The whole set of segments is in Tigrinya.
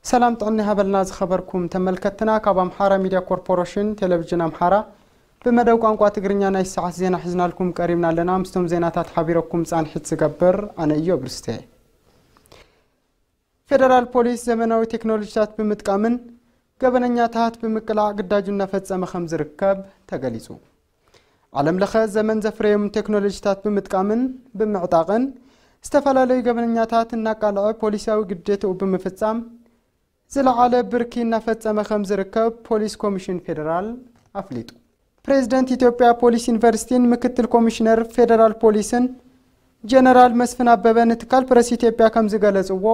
ሰላም ጥዕና ሃበልና ዝኸበርኩም ተመልከትና። ካብ ኣምሓራ ሚድያ ኮርፖሬሽን ቴሌቪዥን ኣምሓራ ብመደብ ቋንቋ ትግርኛ ናይ ሰዓት ዜና ሒዝናልኩም ቀሪብና ኣለና። ምስቶም ዜናታት ሓቢረኩም ጻንሒት ዝገብር ኣነ እዮብ ርስቴ። ፌደራል ፖሊስ ዘመናዊ ቴክኖሎጂታት ብምጥቃምን ገበነኛታት ብምቅላዕ ግዳጁ እናፈጸመ ከም ዝርከብ ተገሊጹ። ዓለም ለኸ ዘመን ዘፍረዮም ቴክኖሎጂታት ብምጥቃምን ብምዕጣቕን ዝተፈላለዩ ገበነኛታት እናቃልዐ ፖሊሳዊ ግዴታኡ ብምፍጻም ዝለዓለ ብርኪ እናፈጸመ ከም ዝርከብ ፖሊስ ኮሚሽን ፌደራል ኣፍሊጡ። ፕሬዝደንት ኢትዮጵያ ፖሊስ ዩኒቨርሲቲን ምክትል ኮሚሽነር ፌደራል ፖሊስን ጀነራል መስፍን ኣበበ ንትካል ፕረስ ኢትዮጵያ ከም ዝገለጽዎ፣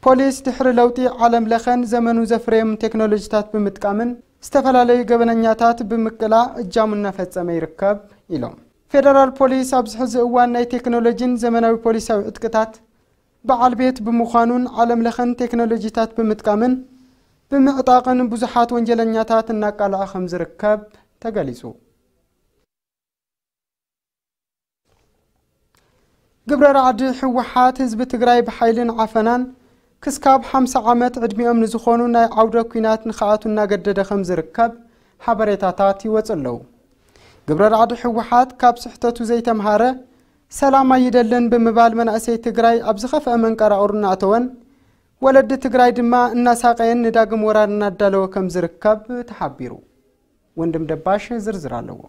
ፖሊስ ድሕሪ ለውጢ ዓለም ለኸን ዘመኑ ዘፍረዮም ቴክኖሎጂታት ብምጥቃምን ዝተፈላለዩ ገበነኛታት ብምቅላዕ እጃሙ እናፈጸመ ይርከብ ኢሎም። ፌደራል ፖሊስ ኣብዚ ሕዚ እዋን ናይ ቴክኖሎጂን ዘመናዊ ፖሊሳዊ ዕጥቅታት በዓል ቤት ብምዃኑን ዓለም ለኸን ቴክኖሎጂታት ብምጥቃምን ብምዕጣቕን ብዙሓት ወንጀለኛታት እናቃልዐ ከም ዝርከብ ተገሊጹ። ግብረ ራዕዲ ህወሓት ህዝቢ ትግራይ ብሓይልን ዓፈናን ክስካብ ሓምሳ ዓመት ዕድሚኦም ንዝኾኑ ናይ ዓውደ ኲናት ንኽኣቱ እናገደደ ከም ዝርከብ ሓበሬታታት ይወፁ ኣለዉ። ግብረ ራዕዲ ህወሓት ካብ ስሕተቱ ዘይተምሃረ ሰላም ኣይደልን ብምባል መናእሰይ ትግራይ ኣብ ዝኸፍአ መንቀራቕሩ እናእተወን ወለዲ ትግራይ ድማ እናሳቀየን ንዳግም ወራር እናዳለወ ከም ዝርከብ ተሓቢሩ። ወንድም ደባሽ ዝርዝር ኣለዎ።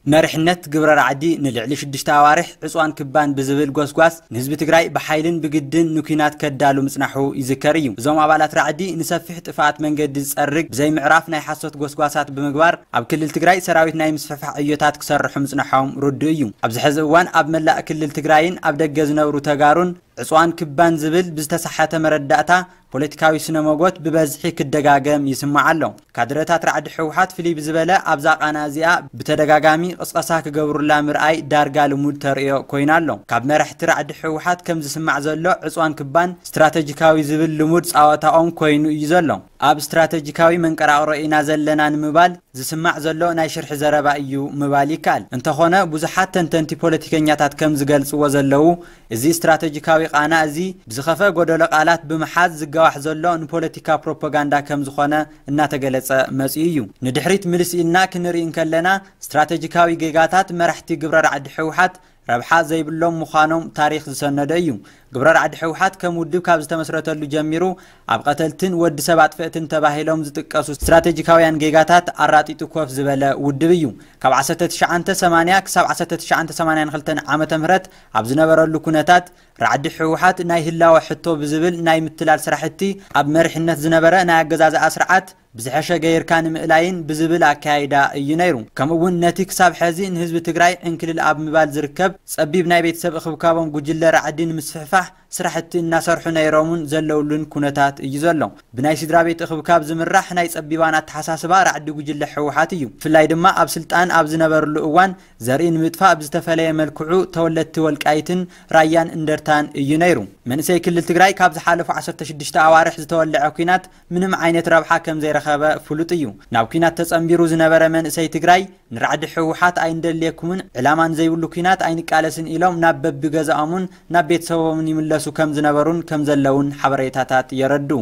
መሪሕነት ግብረ ራዕዲ ንልዕሊ ሽዱሽተ ኣዋርሕ ዕፅዋን ክባን ብዝብል ጎስጓስ ንህዝቢ ትግራይ ብሓይልን ብግድን ንኲናት ከዳሉ ምፅናሑ ይዝከር እዩ። እዞም ኣባላት ራዕዲ ንሰፊሕ ጥፍኣት መንገዲ ዝፀርግ ብዘይ ምዕራፍ ናይ ሓሶት ጎስጓሳት ብምግባር ኣብ ክልል ትግራይ ሰራዊት ናይ ምስፍሕፋሕ ዕዮታት ክሰርሑ ምፅናሖም ርዱእ እዩ። ኣብዚ ሕዚ እዋን ኣብ መላእ ክልል ትግራይን ኣብ ደገ ዝነብሩ ተጋሩን ዕፅዋን ክባን ዝብል ብዝተሳሓተ መረዳእታ ፖለቲካዊ ስነ መጎት ብበዝሒ ክደጋገም ይስማዕ ኣሎ። ካድረታት ራዕዲ ህወሓት ፍልይ ብዝበለ ኣብዛ ቃና እዚኣ ብተደጋጋሚ ቅስቀሳ ክገብሩላ ምርኣይ ዳርጋ ልሙድ ተርእዮ ኮይኑ ኣሎ። ካብ መራሕቲ ራዕዲ ህወሓት ከም ዝስማዕ ዘሎ ዕፅዋን ክባን ስትራተጂካዊ ዝብል ልሙድ ፃወታኦም ኮይኑ እዩ ዘሎ። ኣብ ስትራተጂካዊ መንቀራቕሮ ኢና ዘለና ንምባል ዝስማዕ ዘሎ ናይ ሽርሒ ዘረባ እዩ ምባል ይከኣል። እንተኾነ ብዙሓት ተንተንቲ ፖለቲከኛታት ከም ዝገልፅዎ ዘለዉ እዚ ስትራተጂካዊ ቃና እዚ ብዝኸፈ ጎደሎ ቃላት ብምሓዝ ዝጋዋሕ ዘሎ ንፖለቲካ ፕሮፓጋንዳ ከም ዝኾነ እናተገለጸ መጺኡ እዩ። ንድሕሪት ምልስ ኢልና ክንርኢ እንከለና ስትራተጂካዊ ጌጋታት መራሕቲ ግብረ ራዕዲ ህወሓት ረብሓ ዘይብሎም ምዃኖም ታሪኽ ዝሰነዶ እዩ። ግብረ ራዕዲ ህወሓት ከም ውድብ ካብ ዝተመስረተሉ ጀሚሩ ኣብ ቀተልትን ወዲ ሰብ ኣጥፈእትን ተባሂሎም ዝጥቀሱ ስትራተጂካውያን ጌጋታት ኣራጢጡ ኮፍ ዝበለ ውድብ እዩ። ካብ ዓሰርተ ትሽዓተ ሰማንያ ክሳብ ዓሰርተ ትሽዓተ ሰማንያን ክልተን ዓመተ ምህረት ኣብ ዝነበረሉ ኩነታት ራዕዲ ህወሓት ናይ ህላወ ሕቶ ብዝብል ናይ ምትላል ስራሕቲ ኣብ መሪሕነት ዝነበረ ናይ ኣገዛዝኣ ስርዓት ብዝሐሸ ገይርካ ንምእላይን ብዝብል ኣካያይዳ እዩ ነይሩ። ከምኡ እውን ነቲ ክሳብ ሐዚ ንህዝቢ ትግራይ ዕንክልል ኣብ ምባል ዝርከብ ጸቢብ ናይ ቤተሰብ እኽብካቦም ጉጅለ ራዕዲ ንምስፍሕፋሕ ስራሕቲ እናሰርሑ ነይሮምን ዘለውሉን ኩነታት እዩ ዘሎ። ብናይ ስድራ ቤት እኽብካብ ዝምራሕ ናይ ጸቢባን ኣተሓሳስባ ራዕዲ ጉጅለ ህወሓት እዩ። ብፍላይ ድማ ኣብ ስልጣን ኣብ ዝነበርሉ እዋን ዘርኢ ንምጥፋእ ብዝተፈለየ መልክዑ ተወለድቲ ወልቃይትን ራያን እንደርታን እዩ ነይሩ። መንእሰይ ክልል ትግራይ ካብ ዝሓለፉ ዓሰርተ ሽዱሽተ ኣዋርሕ ዝተወልዐ ኲናት ምንም ዓይነት ረብሓ ከም ዘይረኸበ ፍሉጥ እዩ። ናብ ኲናት ተጸንቢሩ ዝነበረ መንእሰይ ትግራይ ንራዕዲ ህወሓት ኣይንደልየኩምን፣ ዕላማ ንዘይብሉ ኲናት ኣይንቃለስን ኢሎም ናብ በብገዛኦምን ናብ ቤተሰቦምን ይምለሱ ከም ዝነበሩን ከም ዘለውን ሓበሬታታት የረድኡ።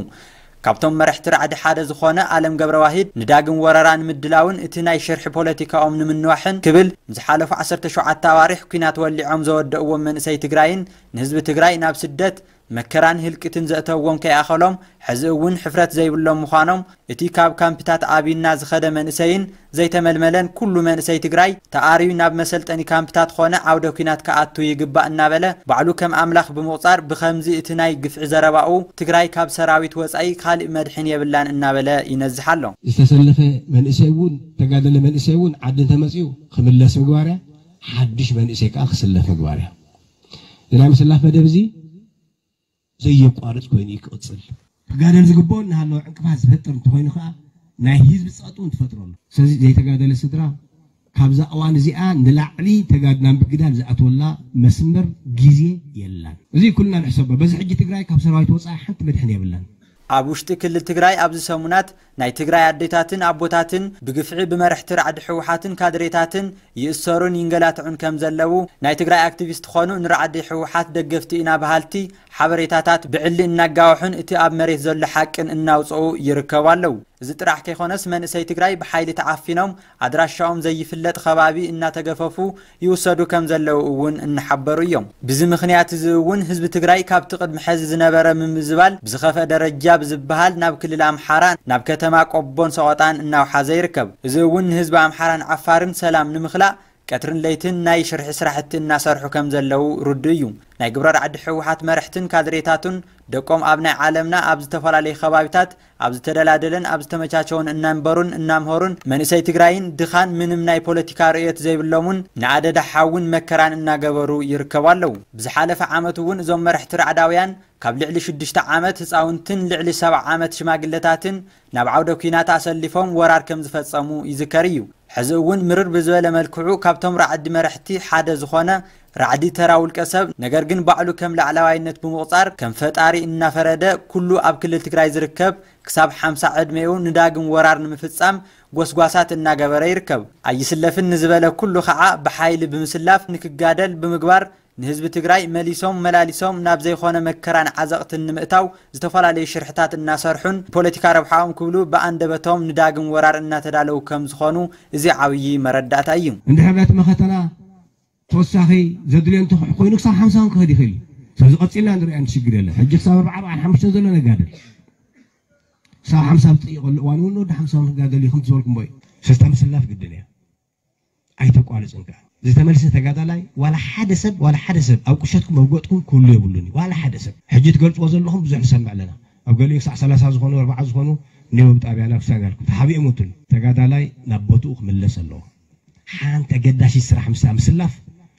ካብቶም መራሕቲ ራዕዲ ሓደ ዝኾነ ኣለም ገብረዋሂድ ንዳግም ወረራ ንምድላውን እቲ ናይ ሽርሒ ፖለቲካኦም ንምንዋሕን ክብል ንዝሓለፉ ዓሰርተ ሸውዓተ ኣዋርሕ ኲናት ወሊዖም ዘወደእዎም መንእሰይ ትግራይን ንህዝቢ ትግራይ ናብ ስደት መከራን ህልቂትን ዘእተዎም ከይኣኸሎም ሕዚ እውን ሕፍረት ዘይብሎም ምዃኖም እቲ ካብ ካምፕታት ኣብዩና ዝኸደ መንእሰይን ዘይተመልመለን ኩሉ መንእሰይ ትግራይ ተኣርዩ ናብ መሰልጠኒ ካምፕታት ኾነ ዓውደ ኲናት ክኣቱ ይግባእ እናበለ ባዕሉ ከም ኣምላኽ ብምቑፃር ብኸምዚ እቲ ናይ ግፍዒ ዘረባኡ ትግራይ ካብ ሰራዊት ወፃኢ ካሊእ መድሕን የብላን እናበለ ይነዝሕ ኣሎ። ዝተሰለፈ መንእሰይ እውን ተጋደለ መንእሰይ እውን ዓዲ እንተመፅኡ ክምለስ ምግባር እያ። ሓድሽ መንእሰይ ከዓ ክስለፍ ምግባር እያ። ንናይ ምስላፍ መደብ እዚ ዘየቋርፅ ኮይኑ እዩ ክቕፅል። ክጋደል ዝግብኦ እናሃለወ ዕንቅፋት ዝፈጥር እንተኾይኑ ከዓ ናይ ህዝቢ ፀቕጢ እውን ትፈጥረሉ። ስለዚ ዘይተጋደለ ስድራ ካብዛ እዋን እዚኣ ንላዕሊ ተጋድና ምግዳል ዝኣትወላ መስመር ግዜ የላን። እዚ ኩልና ንሕሰቦ። በዚ ሕጂ ትግራይ ካብ ሰራዊት ወፃኢ ሓንቲ መድሕን የብላን። ኣብ ውሽጢ ክልል ትግራይ ኣብዚ ሰሙናት ናይ ትግራይ ኣዴታትን ኣቦታትን ብግፍዒ ብመርሕቲ ራዕዲ ህወሓትን ካድሬታትን ይእሰሩን ይንገላትዑን ከም ዘለዉ ናይ ትግራይ ኣክቲቪስት ኾኑ ንራዕዲ ህወሓት ደገፍቲ ኢና በሃልቲ ሓበሬታታት ብዕሊ እናጋውሑን እቲ ኣብ መሬት ዘሎ ሓቅን እናውፅኡ ይርከቡ ኣለዉ። እዚ ጥራሕ ከይኾነስ መንእሰይ ትግራይ ብሓይሊ ተዓፊኖም ኣድራሻኦም ዘይፍለጥ ከባቢ እናተገፈፉ ይውሰዱ ከም ዘለዉ እውን እናሓበሩ እዮም። ብዚ ምኽንያት እዚ እውን ህዝቢ ትግራይ ካብቲ ቅድሚ ሕዚ ዝነበረ ምምዝባል ብዝኸፍአ ደረጃ ብዝበሃል ናብ ክልል ኣምሓራ ናብ ከተማ ቆቦን ሰቆጣን እናውሓዘ ይርከብ። እዚ እውን ንህዝቢ ኣምሓራን ዓፋርን ሰላም ንምኽላእ ቀትርን ለይትን ናይ ሽርሒ ስራሕቲ እናሰርሑ ከም ዘለዉ ርዱእ እዩ። ናይ ግብረ ራዕዲ ህወሓት መርሕትን ካድሬታቱን ደቆም ኣብ ናይ ዓለምና ኣብ ዝተፈላለዩ ከባቢታት ኣብ ዝተደላደለን ኣብ ዝተመቻቸውን እናንበሩን እናምሀሩን መንእሰይ ትግራይን ድኻን ምንም ናይ ፖለቲካ ርእየት ዘይብሎምን ንኣደዳ ሓውን መከራን እናገበሩ ይርከቡ ኣለዉ። ብዝሓለፈ ዓመት እውን እዞም መርሕቲ ራዕዳውያን ካብ ልዕሊ ሽዱሽተ ዓመት ህፃውንትን ልዕሊ ሰብዓ ዓመት ሽማግለታትን ናብ ዓውደ ኲናት ኣሰሊፎም ወራር ከም ዝፈፀሙ ይዝከር እዩ። ሕዚ እውን ምርር ብዝበለ መልክዑ ካብቶም ራዕዲ መርሕቲ ሓደ ዝኾነ ራዕዲ ተራ ውልቀ ሰብ፣ ነገር ግን ባዕሉ ከም ላዕለዋይነት ብምቑፃር ከም ፈጣሪ እናፈረደ ኩሉ ኣብ ክልል ትግራይ ዝርከብ ክሳብ ሓምሳ ዕድሜኡ ንዳግም ወራር ንምፍፃም ጎስጓሳት እናገበረ ይርከብ። ኣይስለፍን ንዝበለ ኩሉ ከዓ ብሓይሊ ብምስላፍ ንክጋደል ብምግባር ንህዝቢ ትግራይ መሊሶም መላሊሶም ናብ ዘይኾነ መከራን ዓዘቕትን ንምእታው ዝተፈላለዩ ሽርሕታት እናሰርሑን ንፖለቲካ ረብሓኦም ክብሉ ብኣንደበቶም ንዳግም ወራር እናተዳለዉ ከም ዝኾኑ እዚ ዓብዪ መረዳእታ እዩ። እንድሕር ነቲ መኸተና ተወሳኺ ዘድልዮ እንተኾይኑ ክሳብ ሓምሳ እውን ክኸድ ይኽእል እዩ። ስለዚ ቀፂልና ንሪኣ ሽግር የለን። ሕጂ ክሳብ ኣርባዓ ኣርባዓን ሓሙሽተን ዘሎ ነጋድል ክሳብ ሓምሳ ዝጥይቐሉ እዋን እውን ወዲ ሓምሳ እውን ክጋደል እዩ ከም ዝበልኩም ቦይ ሰስታ ምስላፍ ግድን እያ። ኣይተቋርፅን ከዓ ዝተመልሰ ተጋዳላይ ዋላ ሓደ ሰብ ዋላ ሓደ ሰብ ኣብ ቁሸትኩም ኣብ ገጥኩም ክህሉ የብሉን እዩ። ዋላ ሓደ ሰብ ሕጂ ትገልፅዎ ዘለኹም ብዙሕ ንሰምዕ ኣለና። ኣብ ገሊኡ ክሳዕ ሰላሳ ዝኾኑ ኣርባዓ ዝኾኑ ኒወብ ጣብያና ክሳብ ያልኩም ተሓቢኦም ወትሉ ተጋዳላይ ናብ ቦትኡ ክምለስ ኣለዎ። ሓንቲ ኣገዳሲት ስራሕ ምስታ ምስላፍ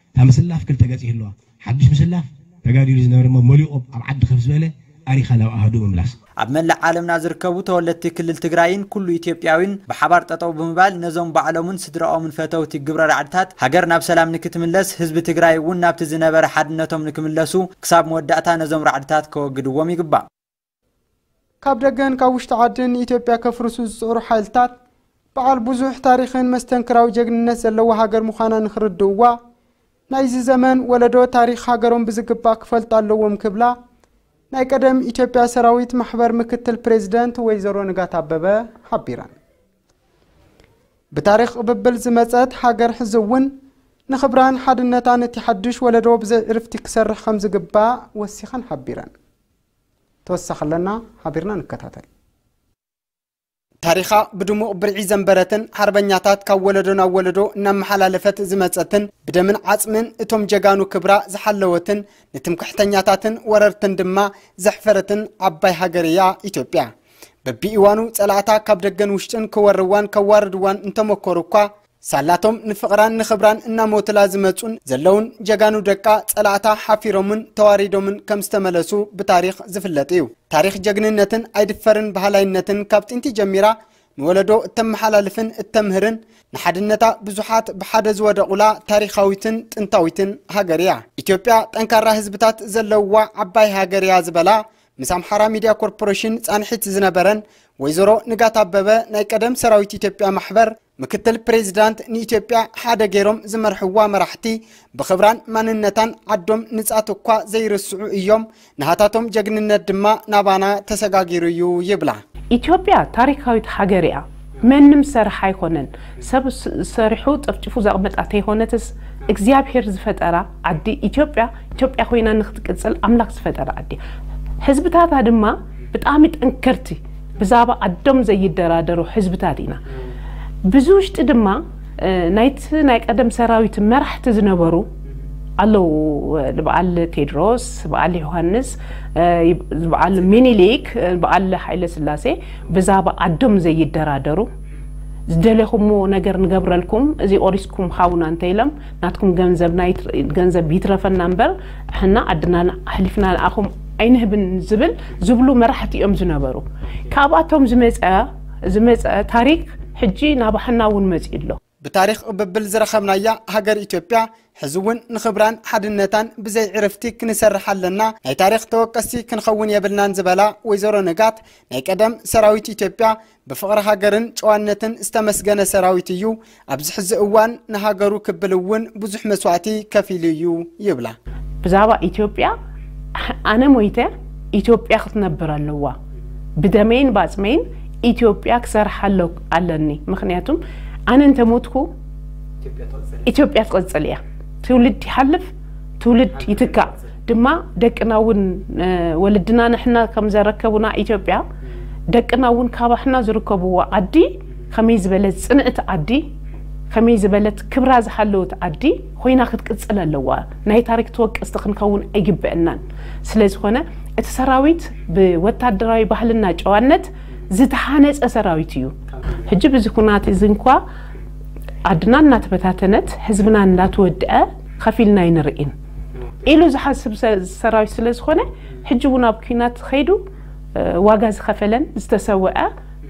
እታ ምስላፍ ክልተ ገፅ ይህልዋ። ሓዱሽ ምስላፍ ተጋዲሉ ዝነበረ እሞ መሊቑ ኣብ ዓዲ ከፍ ዝበለ ኣሪኻ ናብ ኣሃዱ ምምላስ። ኣብ መላእ ዓለምና ዝርከቡ ተወለድቲ ክልል ትግራይን ኩሉ ኢትዮጵያዊን ብሓባር ጠጠው ብምባል ነዞም ባዕሎምን ስድራኦምን ፈተውቲ ግብረ ራዕድታት ሃገር ናብ ሰላም ንክትምለስ ህዝቢ ትግራይ እውን ናብቲ ዝነበረ ሓድነቶም ንክምለሱ ክሳብ መወዳእታ ነዞም ራዕድታት ከወግድዎም ይግባእ። ካብ ደገን ካብ ውሽጢ ዓድን ንኢትዮጵያ ከፍርሱ ዝፅዕሩ ሓይልታት በዓል ብዙሕ ታሪኽን መስተንክራዊ ጀግንነት ዘለዋ ሃገር ምዃና ንክርድእዋ ናይዚ ዘመን ወለዶ ታሪኽ ሃገሮም ብዝግባእ ክፈልጡ ኣለዎም ክብላ ናይ ቀደም ኢትዮጵያ ሰራዊት ማሕበር ምክትል ፕሬዚደንት ወይዘሮ ንጋት ኣበበ ሓቢረን። ብታሪኽ ቅብብል ዝመጸት ሃገር ሕዚ እውን ንኽብራን ሓድነታን እቲ ሓድሽ ወለዶ ብዘይ ዕርፍቲ ክሰርሕ ከም ዝግባእ ወሲኸን ሓቢረን። ተወሳኺ ኣለና፣ ሓቢርና ንከታተል። ታሪኻ ብድሙቕ ብርዒ ዘንበረትን ሓርበኛታት ካብ ወለዶ ናብ ወለዶ እናመሓላለፈት ዝመጸትን ብደምን ዓጽምን እቶም ጀጋኑ ክብራ ዝሓለወትን ንትምክሕተኛታትን ወረርትን ድማ ዘሕፈረትን ዓባይ ሃገር እያ ኢትዮጵያ። በቢእዋኑ ጸላእታ ካብ ደገን ውሽጥን ክወርዋን ከዋርድዋን እንተመኮሩ እኳ ሳላቶም ንፍቕራን ንኽብራን እናሞትላ ዝመጹን ዘለውን ጀጋኑ ደቃ ጸላእታ ሓፊሮምን ተዋሪዶምን ከም ዝተመለሱ ብታሪኽ ዝፍለጥ እዩ። ታሪኽ ጀግንነትን ኣይድፈርን በሃላይነትን ካብ ጥንቲ ጀሚራ ንወለዶ እተመሓላልፍን እተምህርን ንሓድነታ ብዙሓት ብሓደ ዝወደቑላ ታሪኻዊትን ጥንታዊትን ሃገር እያ። ኢትዮጵያ ጠንካራ ህዝብታት ዘለውዋ ዓባይ ሃገር እያ ዝበላ ምስ ኣምሓራ ሚድያ ኮርፖሬሽን ጻንሒት ዝነበረን ወይዘሮ ንጋት ኣበበ ናይ ቀደም ሰራዊት ኢትዮጵያ ማሕበር ምክትል ፕሬዚዳንት ንኢትዮጵያ ሓደ ገይሮም ዝመርሕዋ መራሕቲ ብኽብራን ማንነታን ዓዶም ንጻት እኳ ዘይርስዑ እዮም። ናሃታቶም ጀግንነት ድማ ናባና ተሰጋጊሩ እዩ ይብላ። ኢትዮጵያ ታሪካዊት ሃገር እያ። መንም ሰርሕ ኣይኮነን። ሰብ ስ-፣ ሰሪሑ ጠፍጭፉ ዘቕመጣ ተይኮነትስ እግዚኣብሔር ዝፈጠራ ዓዲ ኢትዮጵያ፣ ኢትዮጵያ ኮይና ንክትቅጽል ኣምላክ ዝፈጠራ ዓዲ። ህዝብታታ ድማ ብጣዕሚ ጠንከርቲ፣ ብዛዕባ ዓዶም ዘይደራደሩ ህዝብታት ኢና። ብዚ ውሽጢ ድማ፣ እ፣ ናይቲ ናይ ቀደም ሰራዊት መራሕቲ ዝነበሩ ኣለዉ። እ፣ በዓል ቴድሮስ፣ በዓል ዮሃንስ፣ እ፣ በዓል ሚኒሊክ፣ እ፣ በዓል ሃይለ ስላሴ ብዛዕባ ዓዶም ዘይደራደሩ፣ ዝደለኹምዎ ነገር ንገብረልኩም፣ እዚ ቆሪስኩም ሃቡና እንተኢሎም፣ ናትኩም ገንዘብ ናይ ትር-፣ ገንዘብ ይትረፈና እምበር፣ ሕና ዓድና ኣሕሊፍና ንኣኹም ኣይንህብን ዝብል፣ ዝብሉ መራሕቲ እዮም ዝነበሩ። ካብኣቶም ዝመጸ፣ ዝመጸ ታሪክ ሕጂ ናባሕና እውን መጺኡ ኣሎ። ብታሪኽ ቅብብል ዝረኸብናያ ሃገር ኢትዮጵያ ሕዚ እውን ንኽብራን ሓድነታን ብዘይ ዕርፍቲ ክንሰርሕ ኣለና፣ ናይ ታሪኽ ተወቀስቲ ክንኸውን የብልናን ዝበላ ወይዘሮ ንጋት፣ ናይ ቀደም ሰራዊት ኢትዮጵያ ብፍቕሪ ሃገርን ጨዋነትን ዝተመስገነ ሰራዊት እዩ። ኣብዚ ሕዚ እዋን ንሃገሩ ክብል እውን ብዙሕ መስዋእቲ ከፊሉ እዩ ይብላ። ብዛዕባ ኢትዮጵያ ኣነ ሞይተ ኢትዮጵያ ክትነብር ኣለዋ። ብደመይን ባጽመይን ኢትዮጵያ ክሰርሕ ኣሎ ኣለኒ። ምኽንያቱም ኣነ እንተሞትኩ ኢትዮጵያ ትቐጽል እያ። ትውልድ ይሓልፍ፣ ትውልድ ይትካእ። ድማ ደቅና እውን ወለድና ንሕና ከም ዘረከቡና ኢትዮጵያ ደቅና እውን ካባሕና ዝርከብዎ ዓዲ ከመይ ዝበለት ጽንዕቲ ዓዲ፣ ከመይ ዝበለት ክብራ ዝሓለወት ዓዲ ኮይና ክትቅጽል ኣለዋ። ናይ ታሪክ ተወቀስቲ ክንከውን ኣይግበአናን። ስለዝኾነ እቲ ሰራዊት ብወታደራዊ ባህልና ጨዋነት ዝተሃነጸ ሰራዊት እዩ። ሕጂ ብዚ ኩናት እዚ እንኳ ዓድና እናተበታተነት ህዝብና እናተወድአ ከፊልና ኣይንርእን ኢሉ ዝሓስብ ሰ- ሰራዊት ስለዝኾነ ሕጂ እውን ኣብ ኩናት ከይዱ ዋጋ ዝኸፈለን ዝተሰወአ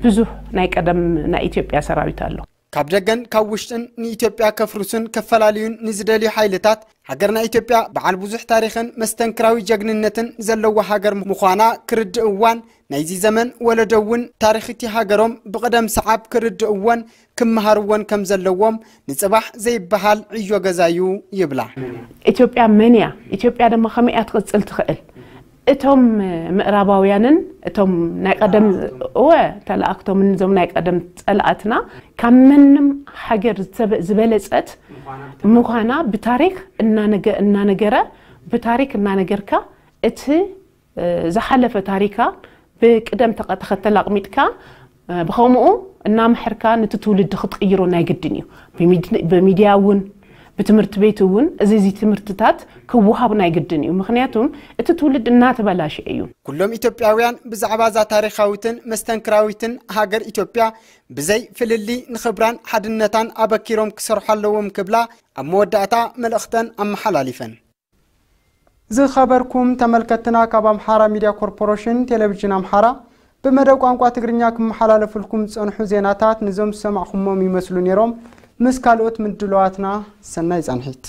ብዙሕ ናይ ቀደም ናይ ኢትዮጵያ ሰራዊት ኣሎ። ካብ ደገን ካብ ውሽጥን ንኢትዮጵያ ከፍርሱን ከፈላልዩን ንዝደልዩ ሓይልታት፣ ሃገርና ኢትዮጵያ በዓል ብዙሕ ታሪኽን መስተንክራዊ ጀግንነትን ዘለዋ ሃገር ምዃና ክርድእዋን ናይዚ ዘመን ወለዶ እውን ታሪኽ እቲ ሃገሮም ብቕደም ሰዓብ ክርድእዎን ክመሃርዎን ከም ዘለዎም ንጽባሕ ዘይበሃል ዕዮ ገዛዩ ይብላ። ኢትዮጵያ መን እያ? ኢትዮጵያ ድማ ከመይ እያ ትቕጽል ትኽእል? እቶም ምዕራባውያንን እቶም ናይ ቀደም እወ ተላእክቶምን እዞም ናይ ቀደም ጸላእትና ካብ መንም ሃገር ዝተበ- ዝበለጸት ምዃና ብታሪክ እናነገ- እናነገረ ብታሪክ እናነገርካ እቲ ዝሓለፈ ታሪካ ብቅደም ተኸተል ኣቕሚጥካ ብኸምኡ እናምሕርካ ነቲ ትውልዲ ክትቅይሮ ናይ ግድን እዩ። ብሚድያ እውን ብትምህርቲ ቤት እውን እዚ እዚ ትምህርትታት ክወሃብ ናይ ግድን እዩ። ምክንያቱም እቲ ትውልድ እናተበላሸ እዩ። ኩሎም ኢትዮጵያውያን ብዛዕባ እዛ ታሪኻዊትን መስተንክራዊትን ሃገር ኢትዮጵያ ብዘይ ፍልሊ ንኽብራን ሓድነታን ኣበኪሮም ክሰርሑ ኣለዎም ክብላ ኣብ መወዳእታ መልእኽተን ኣመሓላሊፈን። ዝኸበርኩም ተመልከትና፣ ካብ ኣምሓራ ሚድያ ኮርፖሬሽን ቴሌቪዥን ኣምሓራ ብመደብ ቋንቋ ትግርኛ ክመሓላለፍልኩም ዝጸንሑ ዜናታት ንዞም ዝሰማዕኹሞም ይመስሉ ነይሮም። ምስ ካልኦት ምድለዋትና ሰናይ ጻንሒት።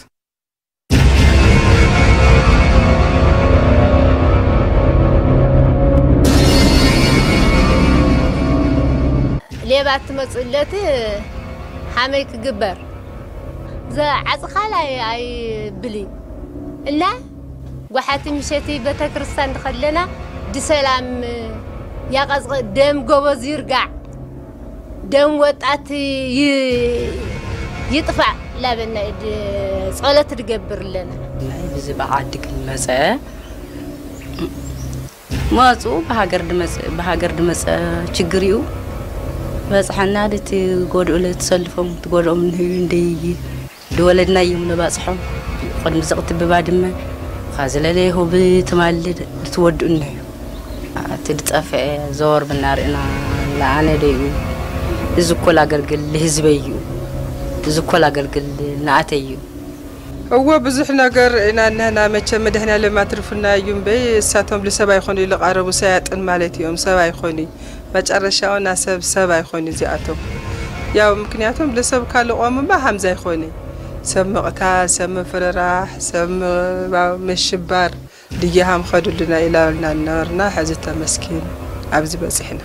ሌባ ትመጽእ ለት ሓመይ ክግበር ዘዓጽኻል ኣይ- ኣይብልን እና ጓሓቲ ምሸቲ ቤተክርስትያን ድኸለና ድሰላም ያቐዝቕ ደም ጎበዝ ይርጋዕ ደም ወጣት ይ- ይጥፋእ ላበና ድ- ጸሎት ድገብር ኣለና። ናይ ብዚ ብዓዲ ክንመጸ መጹ ብሃገር ድመጽእ ብሃገር ድመጸ ችግር እዩ። በጽሐና ድቲ ጎድኡ ለትሰልፎም ትጎድኦም ንህዩ እንደይ ድወለድና እዮም ነባጽሖም። ቅድሚ ዘቕትብባ ድመ ኻዝለለ ይሁብ ትማልድ ድትወድኡ ንህዩ። እቲ ድጠፍአ ዘወር ብናርእና ለኣነ ደዩ። እዚ እኮ ላገልግል ልህዝበይ እዩ። እዚ እኮ ላገልግል ንኣተይ እዩ። እወ ብዙሕ ነገር ኢና እነህና መቸም መድኃኔዓለም ኣትርፉና እዩ እምበይ እሳቶም ልሰብ ኣይኾኑ ኢሉ ቃረቡ ሰያጥን ማለት እዮም ሰብ ኣይኾኑ መጨረሻውና ሰብ ሰብ ኣይኾኑ እዚኣቶም ያው ምክንያቱም ልሰብ ካልቆም እምባ ሃምዛ ኣይኾኑ ሰብ ምቕታል ሰብ ምፍርራሕ ሰብ ምሽባር ድያሃም ኸዱልና ኢላልና ነበርና ሕዚ ተመስኪን ኣብዚ በጺሕና